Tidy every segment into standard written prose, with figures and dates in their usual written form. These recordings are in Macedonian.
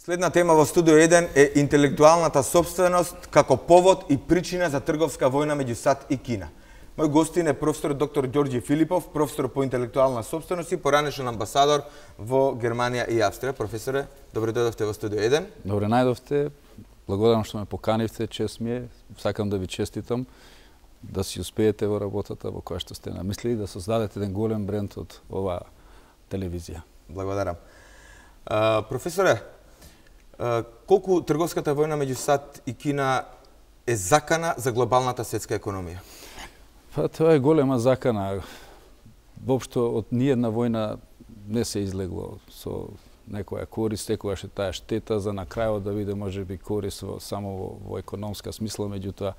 Следна тема во Студио 1 е интелектуалната собственост како повод и причина за трговска војна меѓу САД и Кина. Мој гостин е професор доктор Ѓорѓе Филипов, професор по интелектуална собственост и поранешен амбасадор во Германија и Австрија. Професоре, добре дојдовте во Студио 1. Добре најдовте. Благодарам што ме поканивте, чест ми е. Сакам да ви честитам да си успеете во работата во која што сте намислили, да создадете еден голем бренд од оваа телевизија. Благодарам. Професоре, колку трговската војна меѓу САД и Кина е закана за глобалната светска економија? Па тоа е голема закана. Воопшто од ниедна војна не се излегло со некоја корист, секогаш е таа штета за на крајот да биде можеби корист само во економска смисла, меѓутоа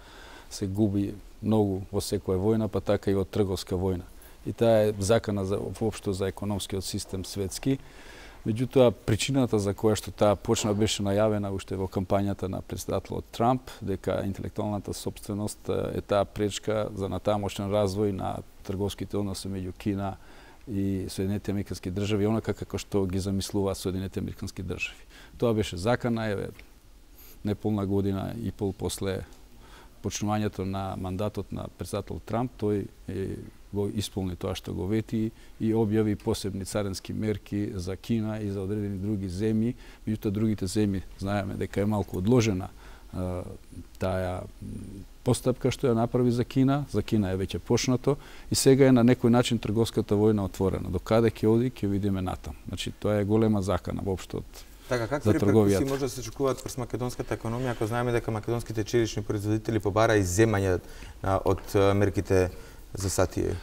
се губи многу во секоја војна, па така и во трговска војна. И таа е закана за воопшто за економскиот систем светски. Меѓутоа, причината за која што таа почна беше најавена уште во кампањата на претседателот Трамп, дека интелектуалната собственост е таа пречка за натамошен развој на трговските односи меѓу Кина и Соединетите американски држави, онака како што ги замислуваат Соединетите американски држави. Тоа беше закана, неполна година и пол после почнувањето на мандатот на претседател Трамп, тој го исполни тоа што го вети и објави посебни царински мерки за Кина и за одредени други земји. Меѓутоа другите земји знаеме дека е малку одложена таа постапка што ја направи за Кина. За Кина е веќе почнато и сега е на некој начин трговската војна отворена. До каде ќе оди, ќе видиме натам. Значи тоа е голема закана воопшто од така, какви реперкусии може да се очекуваат врз македонската економија, ако знаеме дека македонските черешни производители побара и земања од мерките за САД?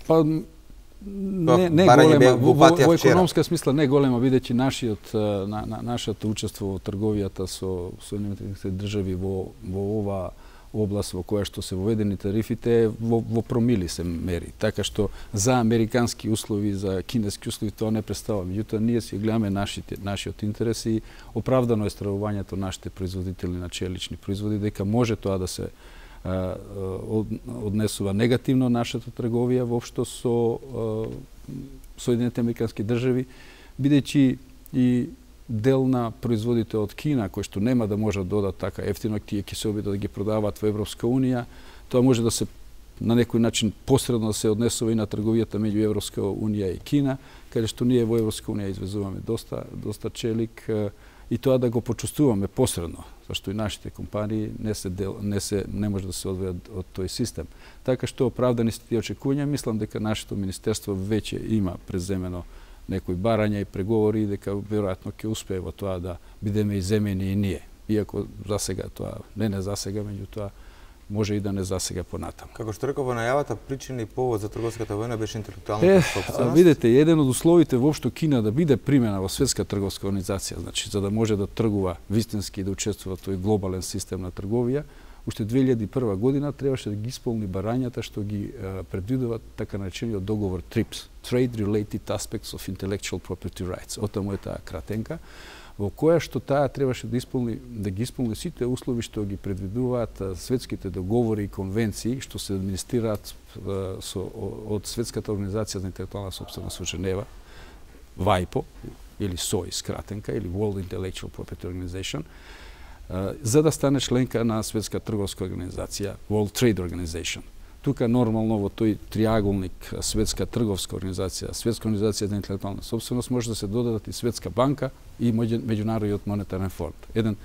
Па не голема, во економска смисла не голема, бидејќи нашето учество во трговијата со Соединетите држави во ова област во која што се воведени тарифите во промили се мери. Така што за американски услови, за кинески услови тоа не представува. Меѓутоа ние си гледаме нашиот интерес и оправдано е стравувањето нашите производители на челични производи дека може тоа да се однесува негативно нашата трговија воопшто со Соединетите американски држави, бидејќи и дел на производите од Кина, кои што нема да можат да додат така ефтино, тие ќе се обидат да ги продаваат во Европска унија, тоа може да се на некој начин посредно да се однесува и на трговијата меѓу Европска унија и Кина, каде што ние во Европска унија извезуваме доста челик и тоа да го почувствуваме посредно, зашто и нашите компании не може да се одвојат од тој систем. Така што оправдани се тие очекувања, мислам дека нашето министерство веќе има преземено некои барања и преговори, дека веројатно ќе успее во тоа да бидеме иземени и ние. Иако за сега тоа не за сега, меѓутоа може и да не за сега понатаму. Како што реков во најавата, причина и повод за трговската војна беше интелектуалната собственост. Видете, еден од условите воопшто Кина да биде примена во светска трговска организација, значи за да може да тргува вистински и да учествува тој глобален систем на трговија, уште 2001 година требаше да ги исполни барањата што ги предвидува така наречениот договор TRIPS, Trade Related Aspects of Intellectual Property Rights. Отаму е таа кратенка, во која што таа требаше да ги исполни сите услови што ги предвидуваат светските договори и конвенции што се администрираат од Светската организација за интелектуална собственост во Женева, WIPO или SOI скратенка или World Intellectual Property Organization, за да стане членка на Светска трговска организација, World Trade Organization. Тука нормално во тој триаголник Светска трговска организација, Светска организација за интелектуална собственост може да се додадат и Светска банка и Меѓународниот монетарен фонд. Еден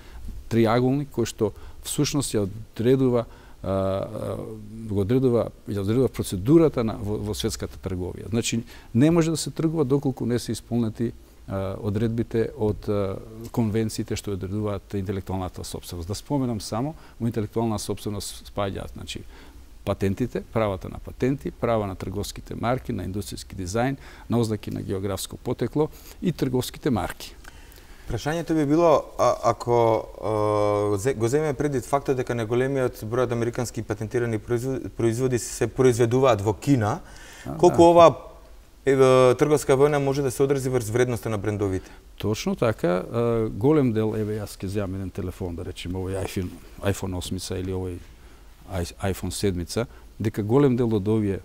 триаголник кој што всушност ја одредува процедурата во светската трговија. Значи не може да се тргува доколку не се исполнети одредбите од конвенциите што одредуваат интелектуалната собственост. Да споменам само, во интелектуална собственост спаѓаат, значи патентите, правата на патенти, права на трговските марки, на индустријски дизајн, на ознаки на географско потекло и трговските марки. Прашањето би било, ако го земеме предвид фактот дека најголемиот број од американски патентирани производи се произведуваат во Кина, колку ова трговска војна може да се одрази врз вредноста на брендовите? Точно така, голем дел, јас ќе земам еден телефон, да речем овој iPhone 8 или овој iPhone 7, дека голем дел од овие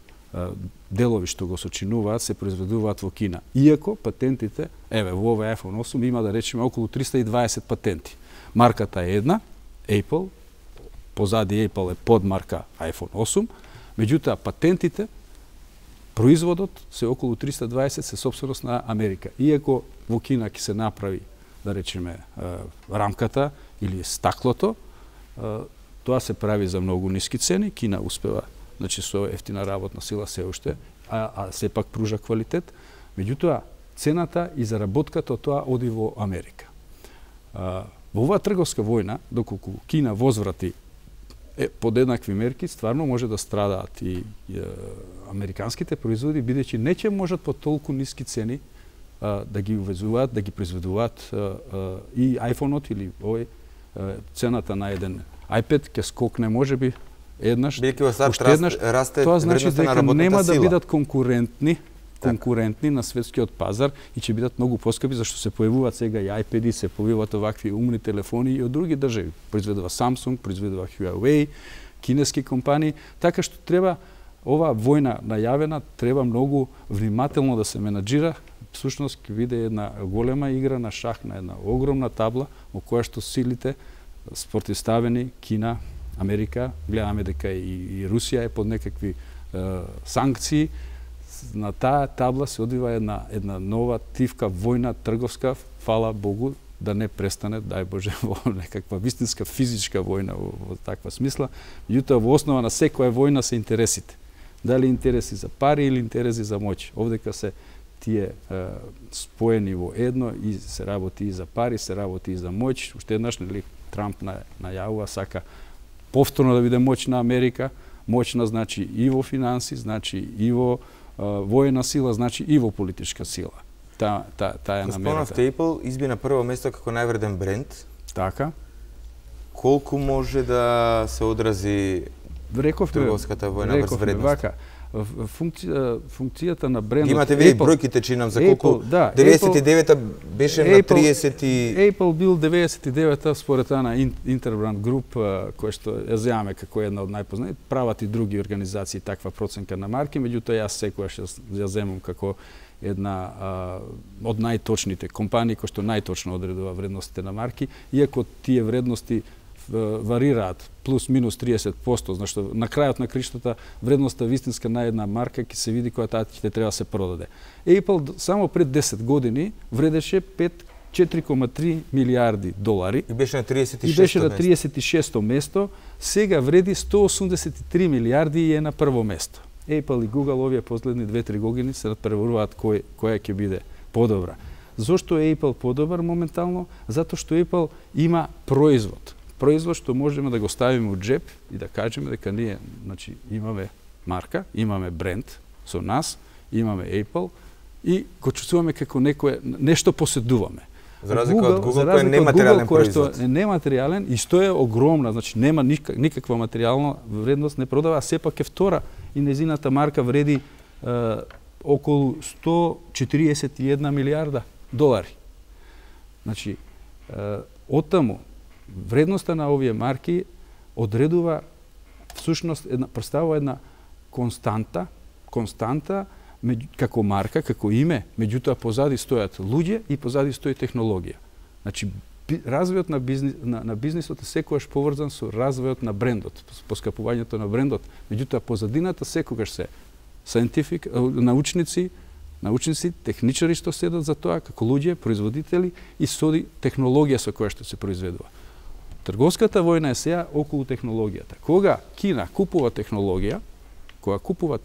делови што го сочинуваат се произведуваат во Кина. Иако патентите, еве во овој iPhone 8 има да речеме околу 320 патенти. Марката е една, Apple, позади Apple е подмарка iPhone 8, меѓутоа патентите, производот се околу 320 се сопственост на Америка. Иако во Кина ќе се направи, да речеме, рамката или стаклото, тоа се прави за многу ниски цени, Кина успева, значи со ефтина работна сила се уште, а сепак пружа квалитет. Меѓутоа, цената и заработката од тоа оди во Америка. Во оваа трговска војна, доколку Кина возврати под еднакви мерки, стварно може да страдаат и американските производи, бидејќи не ќе можат по толку ниски цени да ги увезуваат, да ги произведуваат и iPhone-от или овој цената на еден iPad ќе скокне можеби еднаш, уште еднаш. Тоа значи дека нема да бидат конкурентни на светскиот пазар и ќе бидат многу поскапи, зашто се појавуваат сега и iPad-и, се појавуваат овакви умни телефони и од други држави. Произведува Samsung, произведува Huawei, кинески компании, така што треба оваа војна најавена, треба многу внимателно да се менаџира. Всушност ќе биде една голема игра на шах на една огромна табла во која што силите спротивставени Кина, Америка, гледаме дека и Русија е под некакви санкции. На таа табла се одвива една нова тивка војна трговска, фала Богу, да не престане, дај Боже, во некаква вистинска физичка војна во таква смисла. Меѓутоа во основа на секоја војна се интересите. Дали интереси за пари или интереси за моќ. Овдека се тие споени во едно и се работи и за пари, се работи и за моќ. Уште еднаш, нели, Трамп најавува, сака повторно да биде моќна Америка. Моќна значи и во финанси, значи и во војна сила, значи и во политичка сила. Таа е намерата. Спомнавте, Apple изби на прво место како највреден бренд. Така. Колку може да се одрази трговската војна врз вредност? Функцијата на брендот... Имате ви бројките, чинам, за колку... 99-та беше на 30... Apple бил 99-та според таа на Interbrand Group, која што ја земаме како една од најпознати, прават и други организации таква проценка на марки, меѓутоа јас секогаш ја земам како една од најточните компании кои што најточно одредува вредностите на марки, иако тие вредности варираат плюс-минус 30%, зашто на крајот на криштата вредноста вистинска на една марка ќе се види кога таа ќе треба да се продаде. Apple само пред 10 години вредеше 4,3 милиарди долари и беше на 36-то место, сега вреди 183 милиарди и е на прво место. Apple и Google овие последни 2-3 години се надпреваруваат која ќе биде подобра. Зошто е Apple подобар моментално? Затоа што Apple има производ што можеме да го ставиме у джеп и да кажеме дека ние, значи, имаме марка, имаме бренд со нас, имаме Apple и го чувствуваме како нешто поседуваме. За разлика од Google, кој е нематеријален производ. Што е нематеријален и што е огромна, значи нема никаква материјална вредност, не продава, а сепак е втора и незината марка вреди околу 141 милиарда долари. Значи, оттаму вредноста на овие марки одредува всушност представува една константа како марка, како име, меѓутоа позади стојат луѓе и позади стои технологија. Значи развојот на бизнисот е секогаш поврзан со развојот на брендот, поскапувањето на брендот, меѓутоа позадината секогаш се научници, техничари што седат за тоа, како луѓе, производители и соди технологија со која што се произведува. Трговската војна е сега околу технологијата. Кога Кина купува технологија, кога купува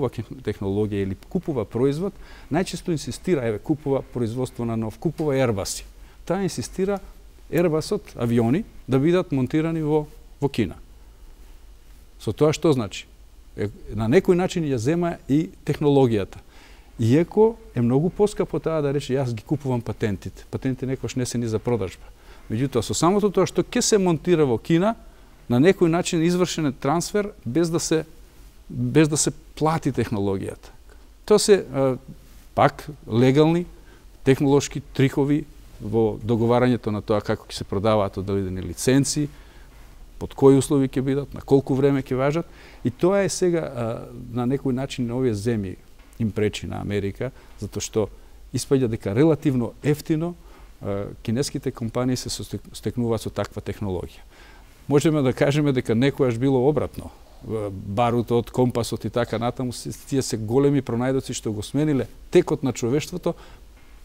технологија или купува производ, најчесто инсистира, купува производство на нов, купува Airbus. Таа инсистира Airbusот, авиони, да бидат монтирани во Кина. Со тоа што значи? На некој начин ја зема и технологијата. Иако е многу поскапо таа да рече јас ги купувам патентите. Патентите некош не се ни за продажба. Меѓутоа, со самото тоа што ќе се монтира во Кина, на некој начин извршен е трансфер без да се плати технологијата. Тоа се пак легални технолошки трикови во договарањето на тоа како ќе се продаваат одредени лиценци, под кои услови ќе бидат, на колку време ќе важат, и тоа е сега на некој начин на овие земји им пречи на Америка, затоа што испаѓа дека релативно ефтино кинеските компании се стекнуваат со таква технологија. Можеме да кажеме дека некојаш било обратно. Барутот, компасот и така натаму, тие се големи пронајдоци што го смениле текот на човештвото,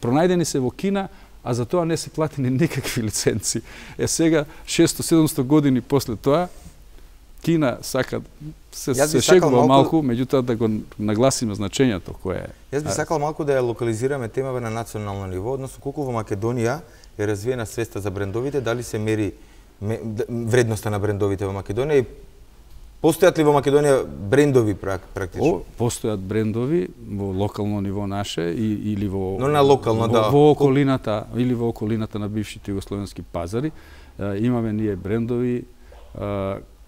пронајдени се во Кина, а за тоа не се платени никакви лиценци. Сега, 600-700 години после тоа, Кина сака се шегува малку, меѓутоа да го нагласиме значењето кое е. Јас би сакал малку да ја локализираме темава на национално ниво, односно колку во Македонија е развиена свеста за брендовите, дали се мери вредноста на брендовите во Македонија и постојат ли во Македонија брендови практично? Постојат брендови во локално ниво наше или во но на локално, да. Во околината или во околината на бившите југословенски пазари имаме ние брендови,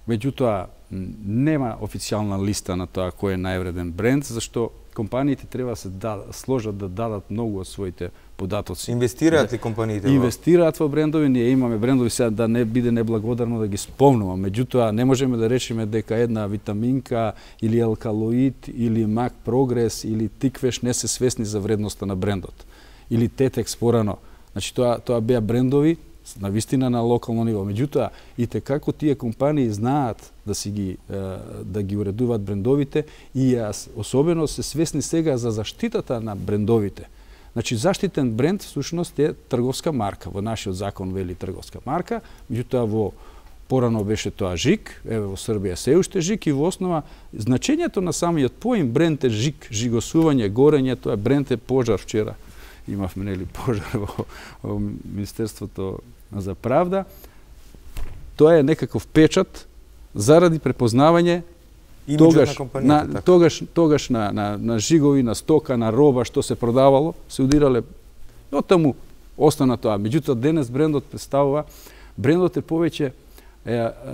меѓутоа нема официјална листа на тоа кој е највреден бренд, зашто компаниите треба да се сложат да дадат многу од своите податоци. Инвестираат ли компаниите? Инвестираат во брендови, ние имаме брендови, сега да не биде неблагодарно да ги спомнувам, меѓутоа не можеме да речеме дека една витаминка или алкалоид или Мак Прогрес или Тиквеш не се свесни за вредноста на брендот. Или Тетекс порано. Значи тоа беа брендови на вистина на локално ниво. Меѓутоа, и како тие компании знаат да ги уредуваат брендовите и особено се свесни сега за заштитата на брендовите. Значи, заштитен бренд всушност е трговска марка. Во нашиот закон вели трговска марка, меѓутоа во порано беше тоа ЖИК, еве во Србија се уште ЖИК, и во основа значењето на самиот поим бренд е ЖИК, жигосување, горење, тоа бренд е пожар. Вчера имавме нели пожар во Министерството за правда. Тоа е некаков печат заради препознавање тогаш на жигови, на стока, на роба што се продавало, се удирале оттаму остана тоа. Меѓутоа денес брендот представува, брендот е повеќе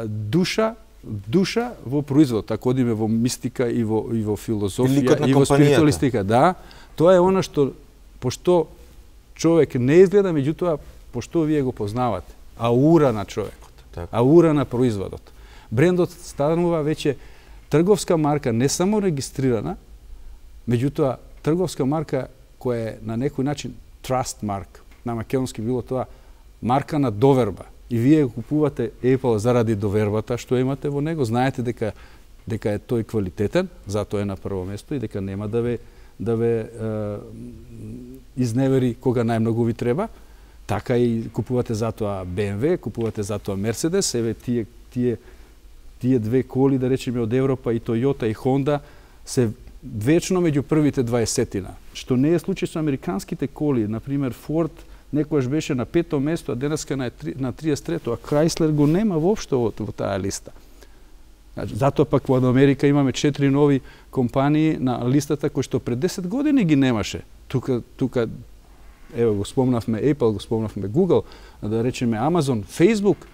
душа во производ, ако одиме во мистика и во филозофија и во спиритуалистика. Да, тоа е она што пошто човек не изгледа, меѓутоа пошто вие го познавате, аура на човекот, аура на производот. Брендот станува веќе трговска марка, не само регистрирана, меѓутоа трговска марка која е на некој начин trust mark. На македонски било тоа марка на доверба. И вие купувате Apple заради довербата што имате во него, знаете дека е тој квалитетен, затоа е на прво место и дека нема да ве изневери кога најмногу ви треба. Така и купувате затоа BMW, купувате затоа Mercedes, еве тие две коли, да речеме, од Европа, и Toyota и Honda, се вечно меѓу првите 20-тина. Што не е случај со американските коли. Например, Ford некојаш беше на 5-то место, а денеска на 33-то, а Chrysler го нема воопшто во таа листа. Затоа пак во Америка имаме 4 нови компании на листата кои што пред 10 години ги немаше. Тука ево го спомнавме Apple, го спомнавме Google, да речеме Amazon, Facebook.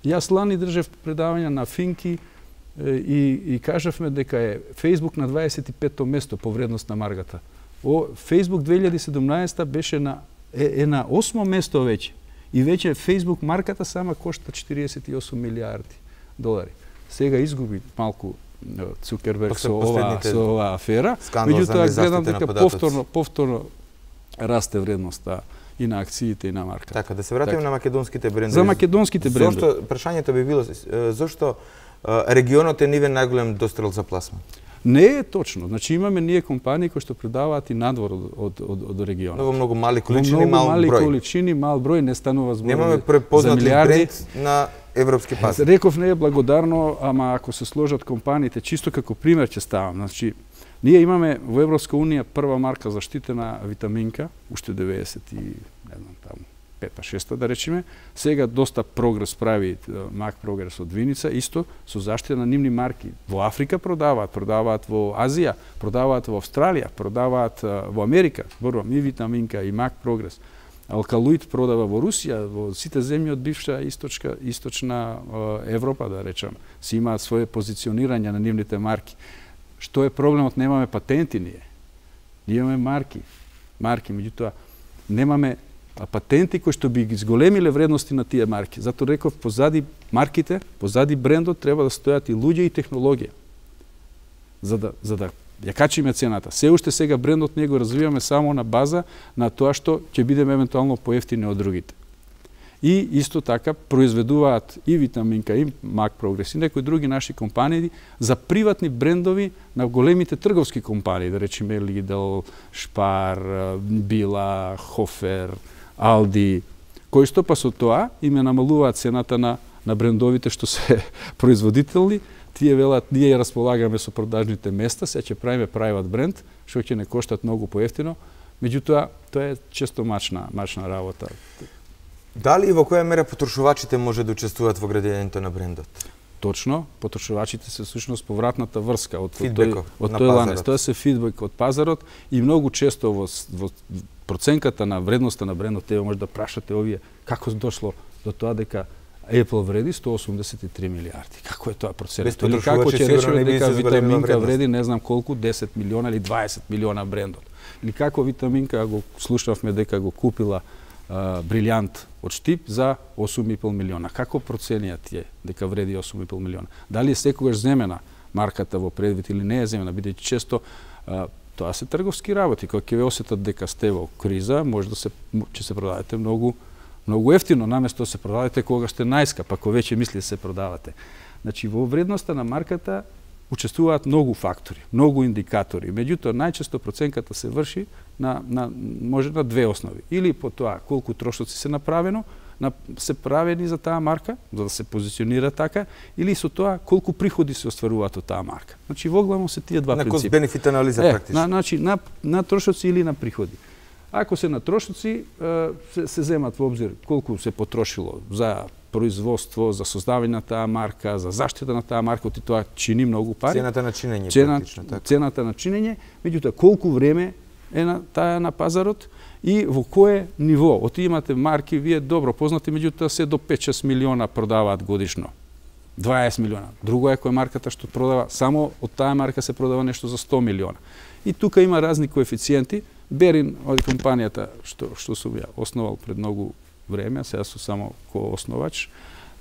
Јас лани држев предавање на Финки и кажавме дека е Facebook на 25-то место по вредност на марката. Facebook 2017 беше на 8-мо место веќе. И веќе Facebook марката сама кошта 48 милиарди долари. Сега изгуби малку Цукерберг со оваа афера, меѓутоа гледам дека повторно расте вредноста и на акциите и на марката. Така, да се вратиме на македонските брендови. За македонските брендови. Зошто, прашањето би било, зошто регионот е нивен најголем дострел за пласман? Не е точно. Значи имаме ние компании кои што продаваат и надвор од регионот. Многу мали количини, мал број. Мали количини, мал број, не станува збор. Немаме препознат бренд на европски пазар. Реков не е благодарно, ама ако се сложат компаниите, чисто како пример ќе ставам. Значи, ние имаме во Европска унија прва марка заштитена витаминка, уште 90 и не знам таму 5-6 да речеме. Сега доста прогрес прави Мак Прогрес од Виница, исто со заштита на нивни марки. Во Африка продаваат во Азија, продаваат во Австралија, продаваат во Америка, зборувам и витаминка и Мак Прогрес. Алкалоид продава во Русија, во сите земји од бивша источна Европа, да речам, си имаат свое позиционирање на нивните марки. Што е проблемот? Немаме патенти ние. Ние имаме марки, меѓутоа немаме патенти кои што би ги зголемиле вредности на тие марки. Затоа реков, позади марките, позади брендот треба да стојат и луѓе и технологија. За да ја качиме цената. Се уште сега брендот не го развиваме само на база на тоа што ќе бидеме евентуално поевтини од другите. И исто така произведуваат и Витаминка, и Мак Прогрес и некои други наши компании за приватни брендови на големите трговски компании, да речеме Lidl, Spar, Billa, Hofer, Aldi, кои што па со тоа им намалуваат цената на брендовите што се производителни. Тие велат, ние ја располагаме со продажните места, сега ќе правиме private бренд, што ќе не коштат многу поевтино, меѓутоа тоа е често мачна работа. Дали и во која мера потрошувачите може да учествуваат во градењето на брендот? Точно, потрошувачите се всушност повратната врска од тој ланец. Тоа се фидбек од пазарот и многу често во проценката на вредноста на брендот тебе може да прашате овие како дошло до тоа дека Apple вреди 183 милиарди. Како е тоа проценето? Или како ќе речеме дека Витаминка вреди не знам колку 10 милиона или 20 милиона брендот? Или како Витаминка го слушавме дека го купила Брилјант од Штип за 8,5 милиона. Како проценија тие дека вреди 8,5 милиона? Дали е секогаш земена марката во предвид или не е земена, бидејќи често тоа се трговски работи. Кога ќе ве осетат дека сте во криза, може да ќе се продадете многу ефтино, наместо да се продадете кога сте најскап, ако веќе мисли да се продавате. Значи во вредноста на марката учествуваат многу фактори, многу индикатори. Меѓутоа, најчесто проценката се врши може на две основи. Или по тоа колку трошоци се се правени за таа марка, за да се позиционира така, или со тоа колку приходи се остваруваат од таа марка. Значи, воглавно се тие два принципи. На кост-бенефит анализа практично. Значи, на трошоци или на приходи. Ако се на трошоци, се земат во обзир колку се потрошило за производство, за создавање на таа марка, за заштита на таа марка, и тоа чини многу пари. Цената на чинење практично, така. Цената на чинење, меѓутоа колку време е таа на пазарот и во кое ниво. Имате марки, вие добро познати, меѓутоа се до 5-6 милиона продаваат годишно. 20 милиона. Друго е која марката што продава, само од таа марка се продава нешто за 100 милиона. И тука има разни коефициенти. Берин, од компанијата што сум ја основал пред многу време, сега сум само коосновач.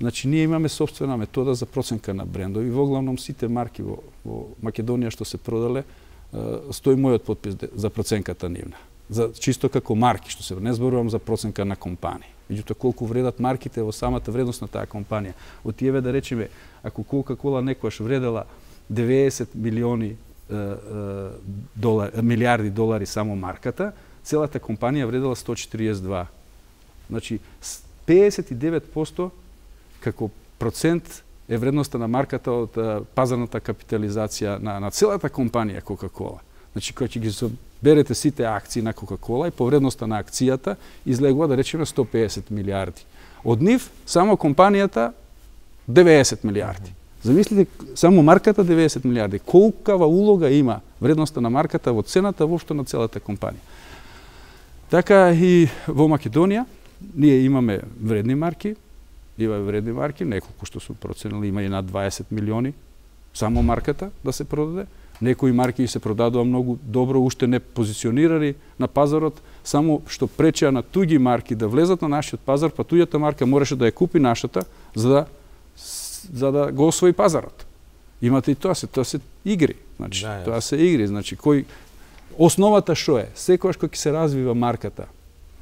Значи, ние имаме собствена метода за проценка на брендови. Воглавном сите марки во Македонија што се продале, стои мојот подпис за проценката нивна. За чисто како марки, што се не зборувам за проценка на компании. Меѓутоа, колку вредат марките во самата вредност на таа компанија. Од тие да речеме, ако Кока-кола некојаш вредела 90 милиарди долари само марката, целата компанија вредела 142. Значи, 59% како процент е вредноста на марката од пазарната капитализација на целата компанија Кока-кола. Значи, кога ќе ги соберете сите акции на Кока-кола и по вредноста на акцијата излегува да речеме 150 милиарди. Од нив само компанијата 90 милиарди. Замислите, само марката 90 милиарди. Колкава улога има вредноста на марката во цената воопшто на целата компанија. Така и во Македонија ние имаме вредни марки, неколку што сум проценили, има и над 20 милиони само марката да се продаде. Некои марки се продадува многу добро, уште не позиционирани на пазарот, само што пречеа на туѓи марки да влезат на нашиот пазар, па туѓата марка мораше да ја купи нашата за да го освои пазарот. Имате и тоа се игри. Значи, тоа се игри. Значи, основата што е? Секогаш кога ќе се развива марката,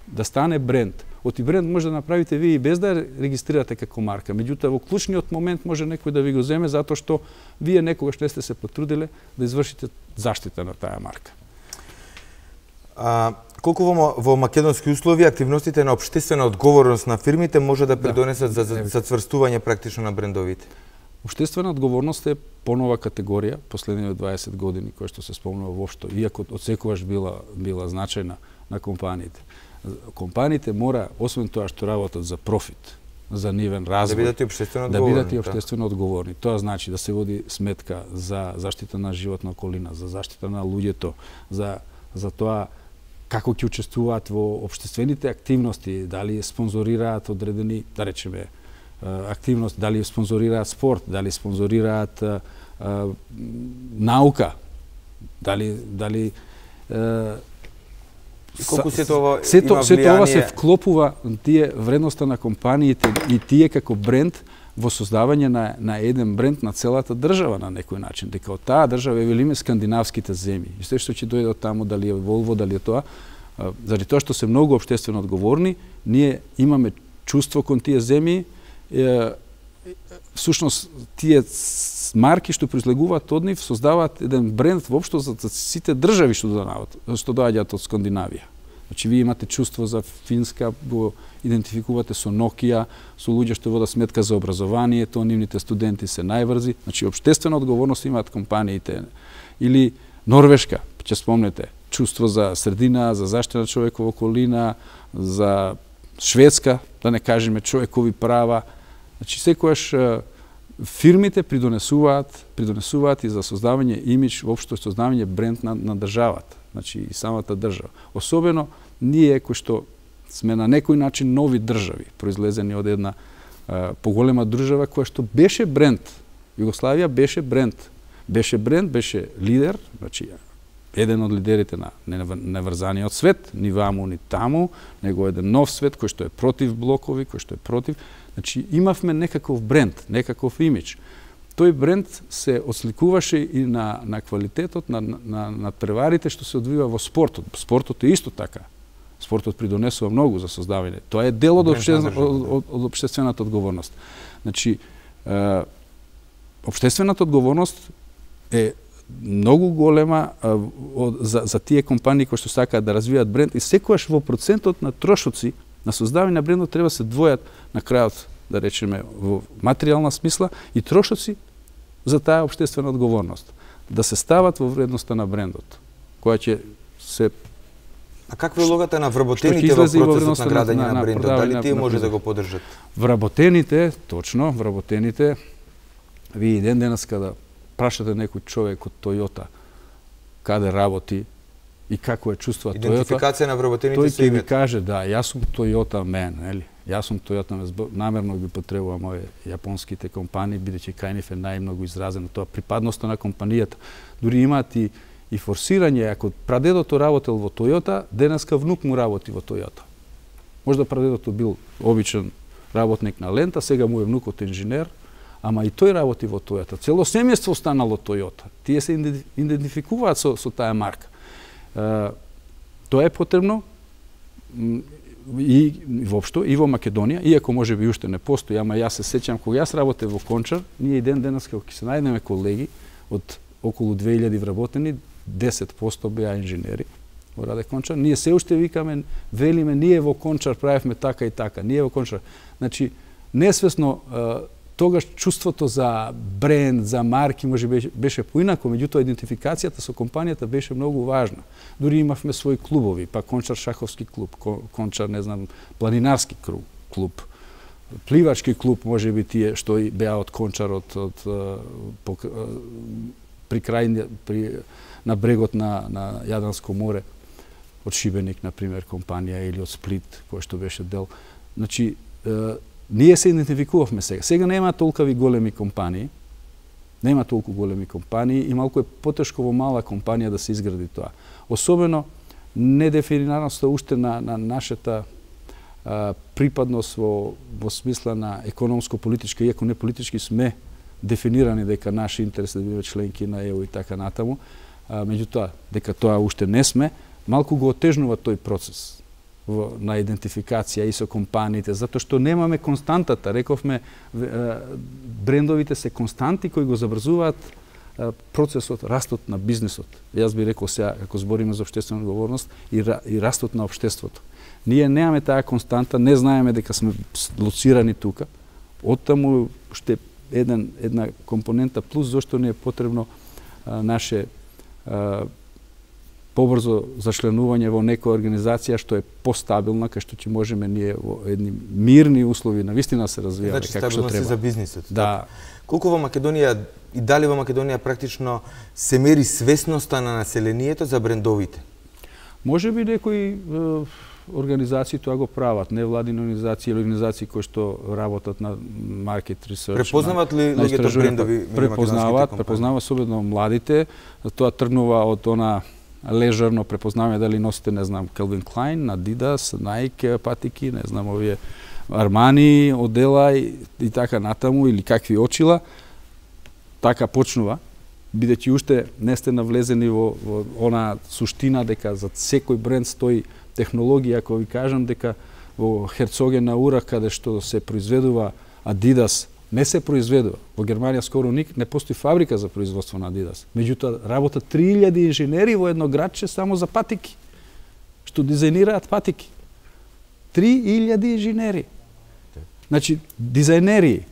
да стане бренд, оти бренд може да направите вие и без да ја регистрирате како марка. Меѓутоа, во клучниот момент може некој да ви го земе затоа што вие некогаш не сте се потрудиле да извршите заштита на таа марка. Колку во македонски услови активностите на општествена одговорност на фирмите може да придонесат за цврстување практично на брендовите? Обштествена одговорност е понова категорија последните 20 години која што се спомнува воопшто, иако одсекогаш била значајна на компаниите. Компаниите мора, освен тоа што работат за профит, за нивен развој, да бидат и општествено одговорни. Тоа значи да се води сметка за заштита на животна околина, за заштита на луѓето, за тоа како ќе учествуваат во општествените активности, дали спонзорираат одредени, да речеме, активности, дали спонзорираат спорт, дали спонзорираат наука, дали Колку се тоа има влијание? Сето ова се вклопува тие вредноста на компаниите и тие како бренд во создавање на еден бренд на целата држава на некој начин. Дека од таа држава велиме скандинавските земји. И се што ќе дојде од таму, дали е Волво, дали е тоа, заради тоа што се многу општествено одговорни, ние имаме чувство кон тие земји, всушност тие марки што произлегуваат од нив создаваат еден бренд воопшто за сите држави што доаѓаат од Скандинавија. Значи вие имате чувство за Финска, го идентификувате со Nokia, со луѓе што водат сметка за образованието, нивните студенти се најврзи. Значи општествена одговорност имаат компаниите. Или Норвешка, ќе спомнете, чувство за средина, за заштита на човекова околина, за Шведска, да не кажеме човекови права. Значи секојаш фирмите придонесуваат и за создавање имидж, воопшто создавање бренд на државата, значи и самата држава. Особено ние кои што сме на некој начин нови држави, произлезени од една поголема држава која што беше бренд. Југославија беше бренд. Беше лидер, значи еден од лидерите на неврзаниот свет, ни ваму, ни таму, него еден нов свет кој што е против блокови, кој што е против. Значи имавме некаков бренд, некаков имидж. Тој бренд се осликуваше и на квалитетот, на преварите што се одвива во спортот. Спортот е исто така. Спортот придонесува многу за создавање. Тоа е дел од општествената одговорност. Значи, општествената одговорност е многу голема за тие компании кои што сакаат да развијат бренд и секогаш во процентот на трошоци на создавање на брендот треба се двојат на крајот, да речеме, во материјална смисла и трошоци за таа општествена одговорност. Да се стават во вредноста на брендот, која ќе се... А каква е улогата на вработените во процесот на градење на брендот? Дали тие може да го поддржат? Вработените, точно, вработените, вие ден денес када прашате некој човек од Toyota каде работи и како е чувствува Toyota, идентификација на вработените тој ќе ви каже, да, јас сум Toyota man, нели? Јас сум Toyota man, намерно ги потребувам овие јапонските компании, бидејќи кај нив е најмногу изразено тоа припадноста на компанијата. Дури имаат и форсирање, ако прадедото работел во Toyota, денеска внук му работи во Toyota. Можда прадедото бил обичен работник на лента, сега му е внукот инженер, ама и тој работи во Toyota. Цело семејство станало Toyota. Тие се идентификуваат со таа марка. Тоа е потребно и воопшто и во Македонија, иако може би уште не постои, ама јас се сеќам кога јас работев во Кончар, ние и ден денес кога ќе се најдеме колеги од околу 2000 вработени, 10% беа инженери во Раде Кончар. Ние се уште викаме, велиме, ние во Кончар правевме така и така, ние во Кончар. Значи, несвесно тогаш чувството за бренд, за марки може беше поинако, меѓутоа идентификацијата со компанијата беше многу важна. Дури имавме своји клубови, па Кончар шаховски клуб, Кончар, не знам, планинарски клуб, пливачки клуб, може би тие што и беа од Кончар, на брегот на Јадранско море, од Шибеник, например, компанија, или од Сплит, кој што беше дел. Значи, ние се идентификувавме сега. Сега нема толкави големи компании, и малку е потешко во мала компанија да се изгради тоа. Особено недефинираноста уште на нашата припадност во смисла на економско-политичка, иако не политички сме дефинирани дека наш интерес е да бидеме членки на ЕУ и така натаму, меѓутоа, дека тоа уште не сме, малку го отежнува тој процес на идентификација и со компаниите, затоа што немаме константата. Рековме, брендовите се константи кои го забрзуваат процесот, растот на бизнисот. Јас би рекол сега, ако збориме за општествена одговорност, и растот на општеството. Ние немаме таа константа, не знаеме дека сме лоцирани тука. Оттаму уште една компонента плюс зашто ни е потребно наше побрзо зачленување во некоја организација што е постабилна, кај што ќе можеме ние во едни мирни услови навистина се развиваме како што треба. За бизнисот. Да. Колку во Македонија и дали во Македонија практично се мери свесноста на населението за брендовите? Може би некои организации тоа го прават, невладини организации или организации кои што работат на маркет ресерч. Препознават ли луѓето брендови? Препознават особено младите. Тоа тргнува од она лежерно препознаваме дали носите, не знам, Calvin Klein, Adidas, Nike патики, не знам, овие Armani, одела и така натаму, или какви очила, така почнува, бидејќи уште не сте навлезени во она суштина дека за секој бренд стои технологија, ако ви кажам дека во Herzogenaurach, каде што се произведува Adidas, не се произведува. Во Германија скоро не постои фабрика за производство на Adidas. Меѓутоа, работат 3000 инженери во едно градче само за патики, што дизајнираат патики. 3000 инженери. Значи, дизајнери,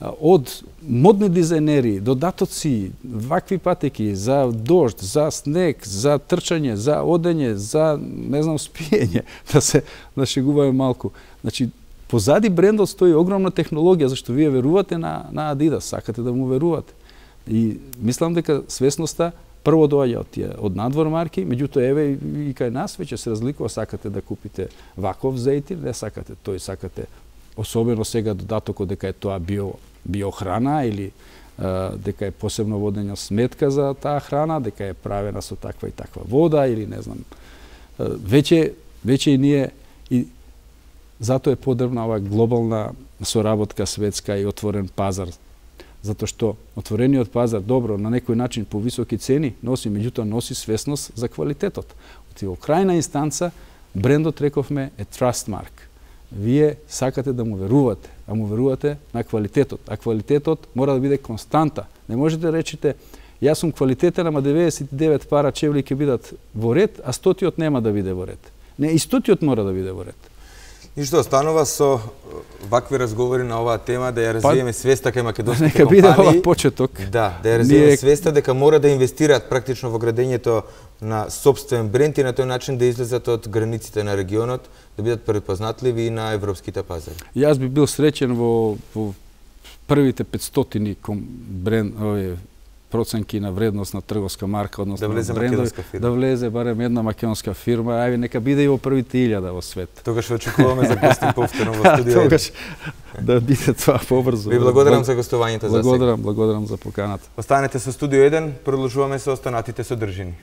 од модни дизајнери до датоци, вакви патики за дожд, за снег, за трчање, за одење, за, не знам, спиење, да се нашегуваме малку. Значи, позади брендот стои огромна технологија, зашто вие верувате на Adidas, сакате да му верувате. И мислам дека свесноста прво доаѓа од надвор марки, меѓутоа еве и кај нас веќе се разликува, сакате да купите ваков зејтин, не сакате тој, сакате особено сега додатокот дека е тоа биохрана или дека е посебно водења сметка за таа храна, дека е правена со таква и таква вода или не знам. Веќе и ние и затоа е потребна оваа глобална соработка светска и отворен пазар. Затоа што отворениот пазар, добро, на некој начин по високи цени носи, меѓутоа носи свесност за квалитетот. Во крајна инстанца, брендот, рековме, е trust mark. Вие сакате да му верувате, а му верувате на квалитетот. А квалитетот мора да биде константа. Не можете да речете, јас сум квалитетен, ама 99 пара чевли ќе бидат во ред, а 100-тиот нема да биде во ред. Не, и 100-тиот мора да биде во ред. И што останува со вакви разговори на оваа тема, да ја развиеме свеста кај македонските компании. Нека биде ова почеток. Да ја развиеме свеста дека мора да инвестираат практично во градењето на собствен бренд и на тој начин да излезат од границите на регионот, да бидат препознатливи и на европските пазари. Јас би бил среќен во првите 500 бренд, проценки на вредност на трговска марка, односно да брендови, да влезе барем една македонска фирма, ајде нека биде и во првите 1000 во свет. Тогаш очекуваме за гости повторно во студио. Тогаш да биде тоа побрзо. Ви благодарам за гостувањето за сега. Благодарам за поканата. Останете со студио 1, продолжуваме со останатите содржини.